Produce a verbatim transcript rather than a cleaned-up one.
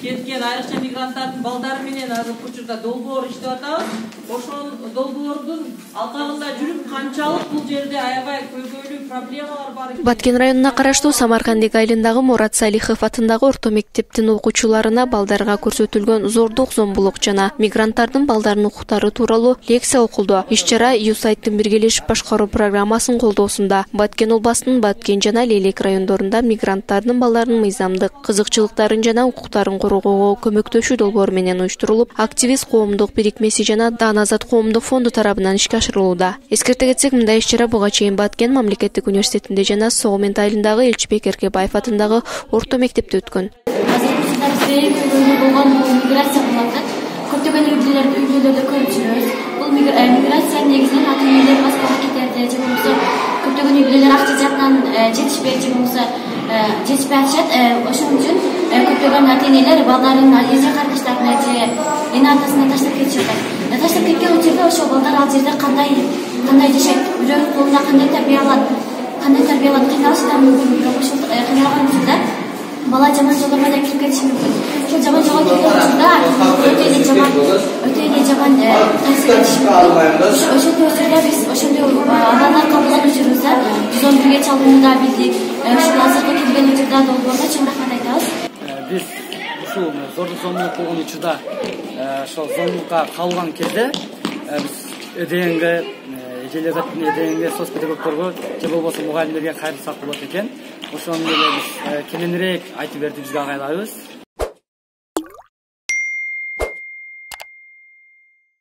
кеткен айрыкча мигранттардын балдары менен азыркы учурда долбоор иштеп атабыз. Ошол долбоордун алкагында жүрүп канчалык бул жерде аябай көйгөйлүү проблемалар бар. Баткен районуна караштуу Самаркандик айылындагы Мурат Салихов атындагы орто мектептин окуучуларына балдарга көрсөтүлгөн зордук, зомбулук жана мигранттардын балдарынын укуктары тууралуу лекция окулду. Иш-чара ЮСАИДтин биргелешип башкаруу программасынын колдоосунда Баткен областынын Баткен жана Лелек райондорунда мигранттардын балдарынын мыйзамдык кызыкчылыктарын жана укуктарын коргоого көмөктөшүү долбоору менен уюштурулуп, активист коомдук бирикмеси жана Дан Азат коомдук фонду тарабынан ишке ашырылууда. Эскерте кетсек, мындай иш-чара буга чейин Баткен мамлекеттик университетинде жана Согмент айылындагы Элчибек Эркебаев атындагы орто мектепте өткөн. Миграция болот. Көптөгөн үй-бүлөлөрдө көрүп жүрөбүз. Бул миграция негизинен ата-энелер Москвага кетерди, же болбосо көптөгөн үй-бүлөлөр акча жактан жетишпей, же болбосо жетишпей атышат. Ошон үчүн көптөгөн ата-энелер балдарын эже кардаштарына же эне атасына таштап кетишет. Таштап кеткен учурда ошол балдар ал жерде кандай кандай жашайт, бирөөнүн колунда кандай тарбия алат, кандай тарбия алат, кыйналышы да мүмкүн. Бирок ошол кыйналган учурда бала жаман жолдорго да кирип кетиши мүмкүн. Ошол жаман жолго кирген учурда өтө эле жаман өтө эле жаман таасир этиши мүмкүн. Ошондой учурда биз ошондой абалдар кабыл алып жүрүбүз. жүз он бирге чалууну да билдик. Ушул азыркы келген учурда долбоорго чоң рахмат айтабыз. Биз ушул зордук, зомбулук болгон учурда ошол зомбулукка калган кезде биз эдегенге эжелердин эдегенге соц педагогдорго же болбосо мугалимдерге кайрылсак болот экен. Ошону эле биз кененирээк айтып берди бизге агайларыбыз.